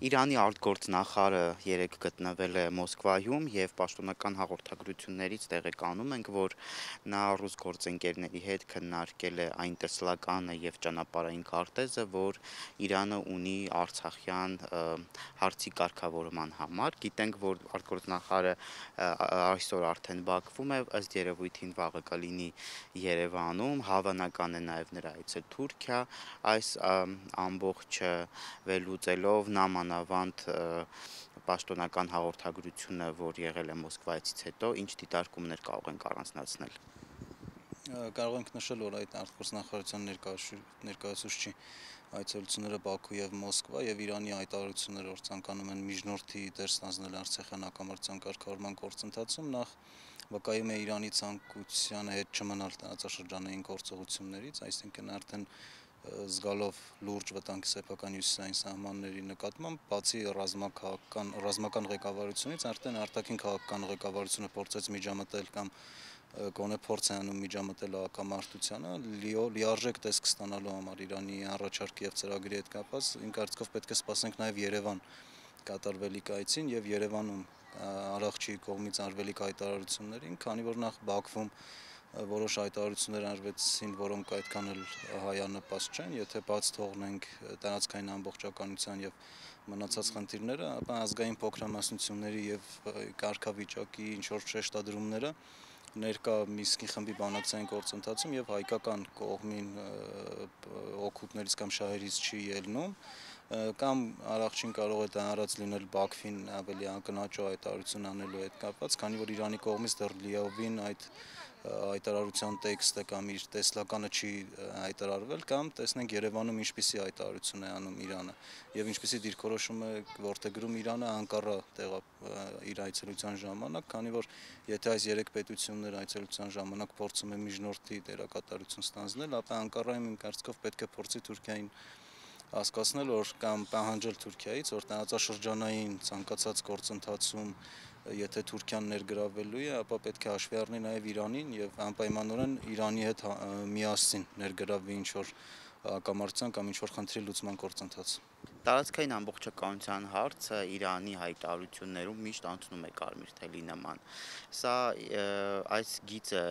Իրանի արտգործնախարարը երեկ գտնվել է Մոսկվայում եւ պաշտոնական հաղորդագրություններից տեղեկանում ենք, որ նա ռուս գործընկերների հետ քննարկել է այն տեսլականը եւ ճանապարհային քարտեզը, որ Իրանը ունի Արցախյան հարցի կարգավորման համար։ Գիտենք, որ արտգործնախարարը այսօր արդեն Բաքվում է, ըստ երևույթին վաղը կլինի Երևանում, հավանական է նաեւ նրա այցը Թուրքիա, այս ամբողջը վերլուծելով նա մանավանդ պաշտոնական հաղորդագրությունը, որ եղել է Մոսկվայից հետո, ինչ դիտարկումներ կարող ենք առանձնացնել։ Կարող ենք նշել, որ այդ արտգործնախարարության ներկայացուցչի այցելությունները Բաքու եւ Մոսկվա եւ Իրանի հայտարարությունները, որ ցանկանում են միջնորդի դեր ստանձնել Արցախյան հակամարտության կարգավորման գործընթացում, նախ վկայում է Իրանի ցանկությանը հետ չմնալ տարածաշրջանային գործողություններից, այսինքն արդեն զգալով լուրջ վտանգ սեփական հյուսիսային սահմանների նկատմամբ, բացի ռազմական ղեկավարությունից, արդեն արտաքին քաղաքական ղեկավարությունը փորձեց միջամտել կամ գոնե փորձ է անում միջամտել հակամարտությանը, լիարժեք տեսք ստանալու համար Իրանի առաջարկի եւ ծրագրի հետ կապված, իմ կարծիքով պետք է սպասենք նաեւ Երևան կատարվելիք այցին եւ Երևանում Արարչի կողմից արվելիք հայտարարություններին, քանի որ նախ Բաքվում որոշ հայտարարություններ արվեցին, որոնք այդքան էլ հայանպաստ չեն, եթե բաց թողնենք տարածքային ամբողջականության եւ մնացած խնդիրները, ապա ազգային փոքրամասնությունների եւ կարգավիճակի ինչ որ շեշտադրումները ներկա Միսկի խմբի բանակցային գործընթացում եւ հայկական կողմին օգուտներից կամ շահերից չի ելնում, կամ Արարչին կարող է դա արած լինել Բաքվին ավելի ակնհայտ հայտարարություն անելու հետ կապված, քանի որ Իրանի կողմից դեռ լիովին այդ հայտարարության տեքստը կամ իր տեսլականը չի հայտարարվել, կամ տեսնենք Երևանում ինչպիսի հայտարարություն է անում Իրանը եւ ինչպիսի դիրքորոշում է որտեգրում Իրանը Անկարա իր այցելության ժամանակ, քանի որ եթե այս երեք պետությունները այցելության ժամանակ փորձում է միջնորդի դերակատարություն ստանձնել, ապա Անկարայում իմ կարծիքով պետք է փորձի Թուրքիային հասկացնել, որ կամ պահանջել Թուրքիայից, որ տարածաշրջանային ցանկացած գործընթացում եթե Թուրքիան ներգրավվելու է, ապա պետք է հաշվի առնի նաև Իրանին եւ անպայմանորեն Իրանի հետ միասին ներգրավվի ինչ-որ հակամարտության կամ ինչ-որ խնդրի լուծման գործընթաց։ Տարածքային ամբողջականության հարցը Իրանի հայտարարություններում միշտ անցնում է կարմիր թելի նման։ Սա այս գիծը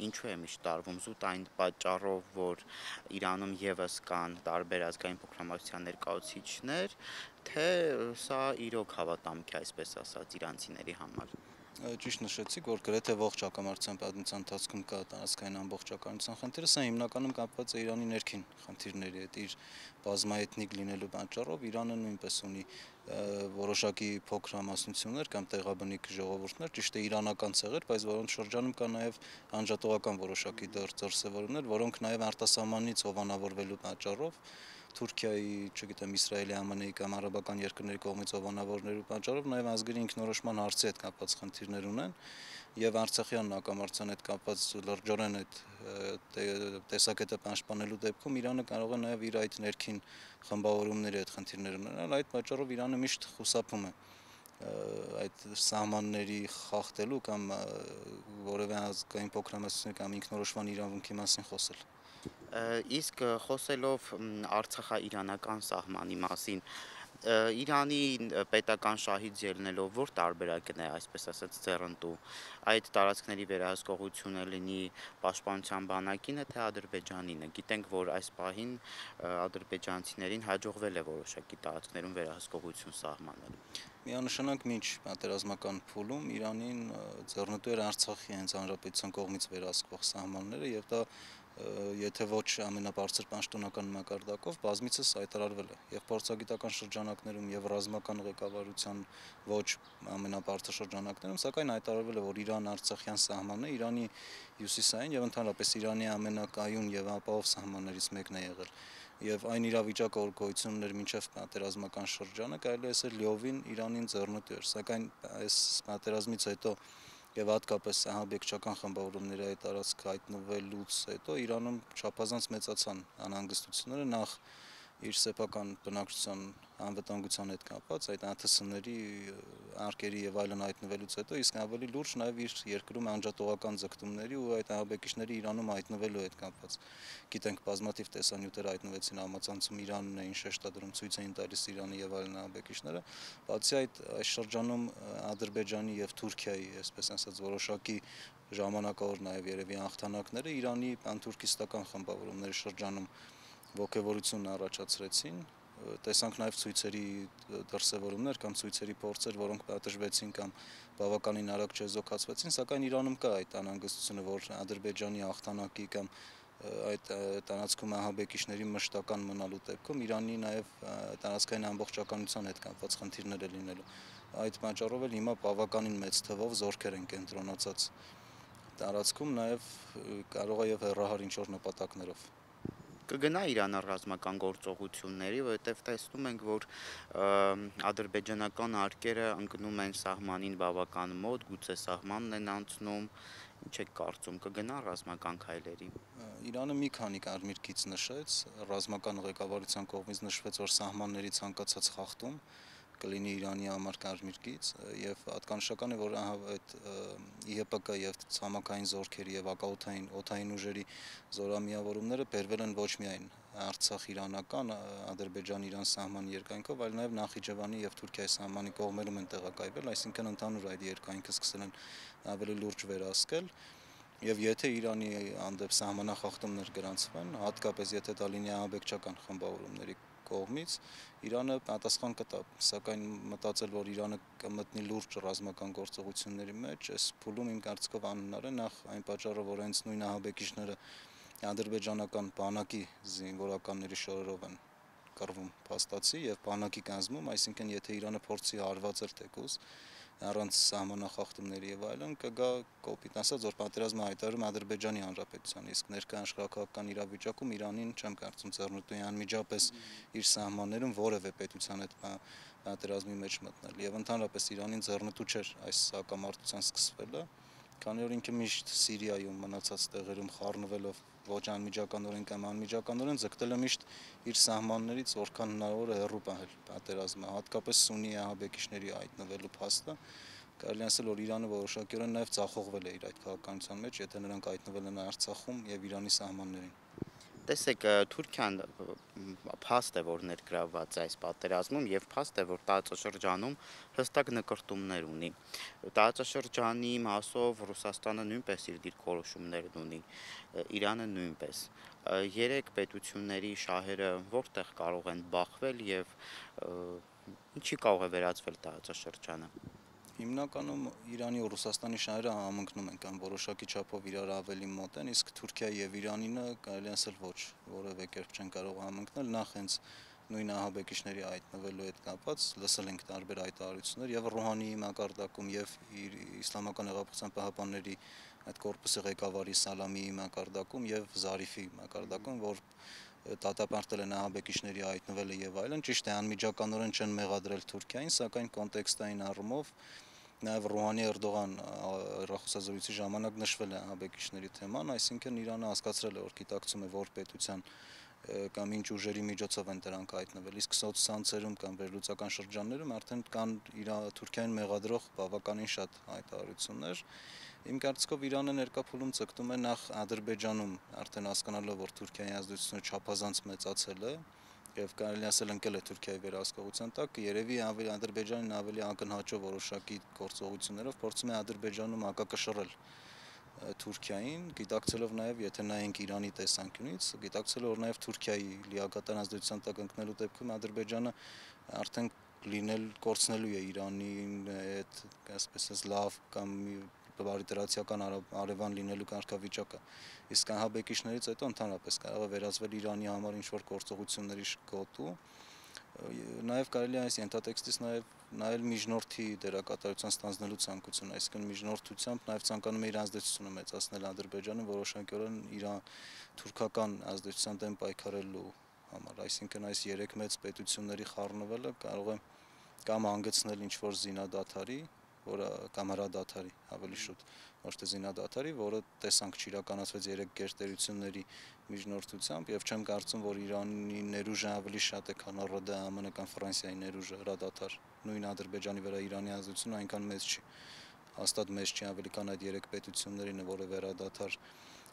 ինչու է միշտ տարվում զուտ այն պատճառով, որ Իրանում եւս կան տարբեր ազգային փոքրամասնության ներկայացուցիչներ, թե սա իրոք հավատամք է, այսպես ասած, իրանցիների համար։ Ճիշտ նշեցիք, որ գրեթե ողջ հակամարտության պատմության ընթացքում կա տարածքային ամբողջականության խնդիրը, սա հիմնականում կապված է Իրանի ներքին խնդիրների հետ, իր բազմաէթնիկ լինելու պատճառով Իրանը նույնպես ունի որոշակի փոքրամասնություններ կամ տեղաբնիկ ժողովուրդներ, ճիշտ է իրանական ցեղեր, բայց որոնց շրջանում կա նաև անջատողական որոշակի դրսևորումներ, որոնք նաև արտասահմանից հովանավորվելու պատճառով Թուրքիայի, չգիտեմ, Իսրայելի, ԱՄՆ-ի կամ արաբական երկրների կողմից հովանավորելու պատճառով նաև ազգերի ինքնորոշման հարցի հետ կապված խնդիրներ ունեն եւ Արցախյան հակամարտության հետ կապված լրջորեն այդ տեսակետը պաշտպանելու դեպքում Իրանը կարող է նաև իր այդ ներքին խմբավորումների հետ խնդիրներ ունենալ, այդ պատճառով Իրանը միշտ խուսափում է այդ սահմանների խախտելու կամ որևէ ազգային փոքրամասնություն կամ ինքնորոշման իրավունքի մասին խոսել։ Իսկ խոսելով Արցախա-իրանական սահմանի մասին, Իրանի պետական շահից ելնելով որ տարբերակն է, այսպես ասած, ձեռնտու այդ տարածքների վերահսկողությունը լինի պաշտպանության բանակինը, թե Ադրբեջանինը։ Գիտենք, որ այս պահին ադրբեջանցիներին հաջողվել է որոշակի տարածքներում վերահսկողություն սահմանել։ Միանշանակ մինչ պատերազմական փուլում Իրանին ձեռնտու էր Արցախի հենց հանրապետության կողմից վերահսկվող սահմանները եւ դա եթե ոչ ամենաբարձր պաշտոնական մակարդակով բազմիցս հայտարարվել է եւ փորձագիտական շրջանակներում եւ ռազմական ղեկավարության ոչ ամենաբարձր շրջանակներում, սակայն հայտարարվել է, որ Իրան-Արցախյան սահմանը Իրանի հյուսիսային եւ ընդհանրապես Իրանի ամենակայուն եւ ապահով սահմաններից մեկն է եղել։ Եվ այն իրավիճակը, որ գոյություն ուներ մինչև պատերազմական շրջանը, կարելի է ասել լիովին Իրանին ձեռնտու էր, սակայն այս պատերազմից հետո եւ հատկապես ահաբեկչական խմբավորումների այդ տարածք հայտնվելուց հետո Իրանում չափազանց մեծացան անհանգստությունները նախ իր սեփական բնակչության անվտանգության հետ կապված այդ ԱԹՍ-ների արկերի եւ այլն հայտնվելուց հետո իսկ ավելի լուրջ նաեւ իր երկրում անջատողական ձգտումների ու այդ ահաբեկիչների Իրանում հայտնվելու հետ կապված։ Գիտենք, բազմաթիվ տեսանյութեր հայտնվեցին համացանցում, Իրանն էին շեշտադրում, ցույց էին տալիս Իրանի եւ այլն ահաբեկիչները։ Բացի այդ, այս շրջանում Ադրբեջանի եւ Թուրքիայի, այսպես ասած, որոշակի ժամանակավոր նաեւ երևի հաղթանակները Իրանի պանթուրքիստական խմբավորումների շրջանում ոգևորություն առաջացրեցին, տեսանք նաև ցույցերի դրսևորումներ կամ ցույցերի փորձեր, որոնք պատժվեցին կամ բավականին արագ չեզոքացվեցին, սակայն Իրանում կա այդ անհանգստությունը, որ Ադրբեջանի հաղթանակի կամ այդ տարածքում ահաբեկիչների մշտական մնալու դեպքում Իրանի նաև տարածքային ամբողջականության հետ կապված խնդիրներ է լինելու։ Այդ պատճառով էլ հիմա բավականին մեծ թվով զորքեր են կենտրոնացած տարածքում, նաև կարող է եւ հեռահար ինչ-որ նպատակներով։ Կգնա Իրանը ռազմական գործողությունների, որովհետև տեսնում ենք, որ ադրբեջանական արկերը ընկնում են սահմանին բավական մոտ, գուցե սահմանն են անցնում, ինչ եք կարծում, կգնա ռազմական քայլերի։ Իրանը մի քանի կարմիր գիծ նշեց, ռազմական ղեկավարության կողմից նշվեց, որ սահմանների ցանկացած խախտում կլինի Իրանի համար կարմիր գիծ եւ հատկանշական է, որ այդ ԻՀՊԿ եւ ցամաքային զորքերի եւ օդային ուժերի զորամիավորումները բերվել են ոչ միայն Արցախ-իրանական, Ադրբեջան-Իրան սահմանի երկայնքով, այլ նաեւ Նախիջևանի եւ Թուրքիայի սահմանի կողմերում են տեղակայվել, այսինքն ընդհանուր այդ երկայնքը սկսել են ավելի լուրջ վերահսկել։ Եվ եթե Իրանի հանդեպ սահմանախախտումներ գրանցվեն, հատկապես եթե դա լինի ահաբեկչական խմբավորումների կողմից, Իրանը պատասխան կտա, սակայն մտածել, որ Իրանը կմտնի լուրջ ռազմական գործողությունների մեջ, այս փուլում իմ կարծիքով անհնար է, նախ այն պատճառով, որ հենց նույն ահաբեկիչները ադրբեջանական բանակի զինվորականների շորերով են կռվում փաստացի եւ բանակի կազմում, այսինքն եթե Իրանը փորձի հարվածել թեկուզ առանց սահմանախախտումների եւ այլն կգա կոպիտ ասած, որ պատերազմը հայտարարում Ադրբեջանի Հանրապետության, իսկ ներկա աշխարհակաղակական իրավիճակում Իրանին չեմ կարծում ձեռնտու է անմիջապես իր սահմաններում որևէ պետության հետ պատերազմի մեջ մտնել եւ ընդհանրապես Իրանին ձեռնտու չէր այս հակամարտության սկսվելը, քանի որ ինքը միշտ Սիրիայում մնացած տեղերում խառնվելով ոչ անմիջականորեն կամ անմիջականորեն ձգտել է միշտ իր սահմաններից որքան հնարավոր է հեռու պահել պատերազմը, հատկապես Սուննի ահաբեկիչների հայտնվելու փաստը կարելի ասել, որ Իրանը որոշակիորեն նաև ձախողվել է իր այդ քաղաքականության մեջ, եթե նրանք հայտնվել են Արցախում եւ Իրանի սահմաններին։ Տեսեք, Թուրքիան փաստ է, որ ներգրավված է այս պատերազմում եւ փաստ է, որ տարածաշրջանում հստակ նկրտումներ ունի։ Տարածաշրջանի մասով Ռուսաստանը նույնպես իր դիրքորոշումներն ունի, Իրանը նույնպես։ Երեք պետությունների շահերը որտեղ կարող են բախվել եւ ինչի կարող է վերածվել տարածաշրջանը։ Հիմնականում Իրանի ու Ռուսաստանի շահերը համընկնում են կամ որոշակի չափով իրար ավելի մոտ են, իսկ Թուրքիայի եւ Իրանինը կարելի ասել ոչ, որևէ կերպ չեն կարող համընկնել, նախ հենց նույն ահաբեկիչների հայտնվելու հետ կապված լսել ենք տարբեր հայտարարություններ եւ Ռոհանիի մակարդակում եւ Իսլամական հեղափոխության պահապանների այդ կորպուսի ղեկավարի Սալամիի մակարդակում եւ Զարիֆի մակարդակում, որ դատապարտել են ահաբեկիչների հայտնվելը եւ այլն, ճիշտ է անմիջականորեն չեն մեղադրել Թուրքիային, սակայն կոնտեքստային առումով նաև Ռոհանի-Էրդողան հեռախոսազրույցի ժամանակ նշվել է ահաբեկիչների թեման, այսինքն Իրանը հասկացրել է, որ գիտակցում է որ պետության կամ ինչ ուժերի միջոցով են դրանք հայտնվել, իսկ սոցցանցերում կամ վերլուծական շրջաններում արդեն կան Թուրքիային մեղադրող բավականին շատ հայտարարություններ։ Իմ կարծիքով Իրանը ներկա փուլում ձգտում է նախ Ադրբեջանում արդեն հասկանալով, որ Թուրքիայի ազդեցությունը չափազանց մեծացել է եւ կարելի ասել ընկել է Թուրքիայի վերահսկողության տակ, երևի Ադրբեջանին ավելի ակնհաճով որոշակի գործողություններով փորձում է Ադրբեջանում հակակշռել Թուրքիային, գիտակցելով նաև, եթե նայենք Իրանի տեսանկյունից, գիտակցելով որ նաև Թուրքիայի լիակատար ազդեցության տակ ընկնելու դեպքում Ադրբեջանը արդեն կորցնելու է Իրանին այդ, այսպես լավ կամ բարիտարացիական արևան լինելու կարգավիճակը, իսկ ահաբեկիչներից հետո ընդհանրապես կարող է վերածվել Իրանի համար ինչ-որ գործողությունների գոտու, նաև կարելի է այս ենթատեքստից նաև միջնորդի դերակատարության ստանձնելու ցանկություն, այսինքն միջնորդությամբ նաև ցանկանում է իր ազդեցությունը մեծացնել Ադրբեջանը որոշակիորեն իր թուրքական ազդեցության դեմ պայքարելու համար, այսինքն այս երեք մեծ պետությունների խառնվելը կարող է կամ հանգեցնել ինչ-որ զինադադարի, որը կամ հրադադարի ավելի շուտ ոչ թե զինադադարի, որը տեսանք չիրականացվեց երեք գերտերությունների միջնորդությամբ եւ չեմ կարծում, որ Իրանի ներուժը ավելի շատ է, քան ՌԴ, ԱՄՆ կամ Ֆրանսիայի ներուժը հրադադար։ Նույն Ադրբեջանի վրա Իրանի ազդեցությունը այնքան մեծ չի։ Հաստատ մեծ չի, ավելի քան այդ երեք պետություններին, որը հրադադար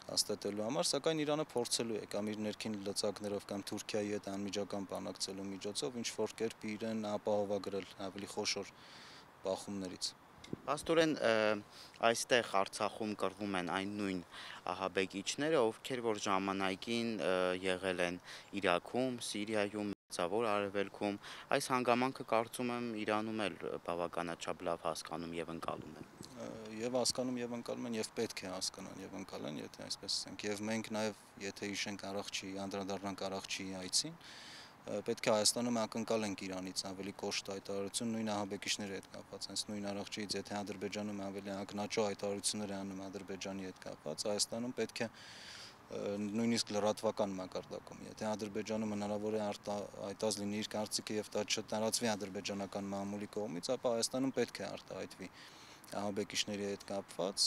հաստատելու համար, սակայն Իրանը փորձելու է կամ իր ներքին լծակներով կամ Թուրքիայի հետ անմիջական բանակցելու միջոցով ինչ որ կերպ իրեն ապահովագրել ավելի խոշոր բախումներից։ Աստորեն այստեղ Արցախում կռվում են այն նույն ահաբեկիչները, ովքեր որ ժամանակին եղել են Իրաքում, Սիրիայում, Մերձավոր Արևելքում, այս հանգամանքը կարծում եմ Իրանում էլ բավականաչափ լավ հասկանում եւ ընկալում են։ Եվ հասկանում եւ ընկալում են եւ պետք է հասկանան եւ ընկալեն, եթե այսպես ասենք, եւ մենք նաեւ եթե հիշենք Արարչի, անդրադառնանք Արարչի այցին, պետք է Հայաստանում ակնկալենք Իրանից ավելի կոշտ հայտարարություն նույն ահաբեկիչների հետ կապված, հենց նույն Արարչից, եթե Ադրբեջանում ավելի ակնաճո հայտարարություններ է անում Ադրբեջանի հետ կապված, Հայաստանում պետք է նույնիսկ լրատվական մակարդակում, եթե Ադրբեջանում հնարավոր է արտահայտած լինի իր կարծիքը եւ դա չտարածվի ադրբեջանական մամուլի կողմից, ապա Հայաստանում պետք է արտահայտվի ահաբեկիչների հետ կապված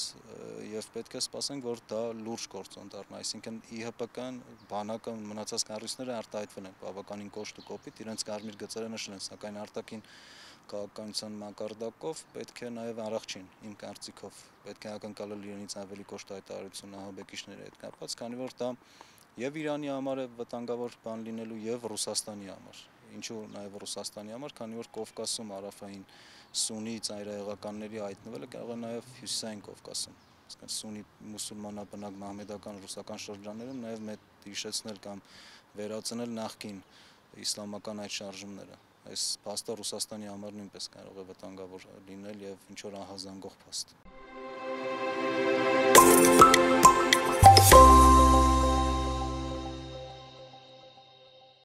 եւ պետք է սպասենք, որ դա լուրջ գործոն դառնա, այսինքն ԻՀՊԿ-ն, բանակը, մնացած կառույցները արտահայտվել են բավականին կոշտ ու կոպիտ, իրենց կարմիր գծերը նշել են, սակայն արտաքին քաղաքականության մակարդակով պետք է նաեւ Արարչին, իմ կարծիքով, պետք է ակնկալել իրենից ավելի կոշտ հայտարարություն ահաբեկիչների հետ կապված, քանի որ դա եւ Իրանի համար է վտանգավոր բան լինելու եւ Ռուսաստանի համար։ Ինչու նաեւ Ռուսաստանի համար, քանի որ Կովկասում հարավային սուննի ծայրահեղականների հայտնվելը կարող է նաեւ հյուսիսային Կովկասում, այսինքն սուննի մուսուլմանաբնակ մահմեդական ռուսական շրջաններում նաեւ մեծ հիշեցնել կամ վերացնել նախկին իսլամական այդ շարժումները։ Այս փաստը Ռուսաստանի համար նույնպես կարող է վտանգավոր լինել եւ ինչ որ ահազանգող փաստ։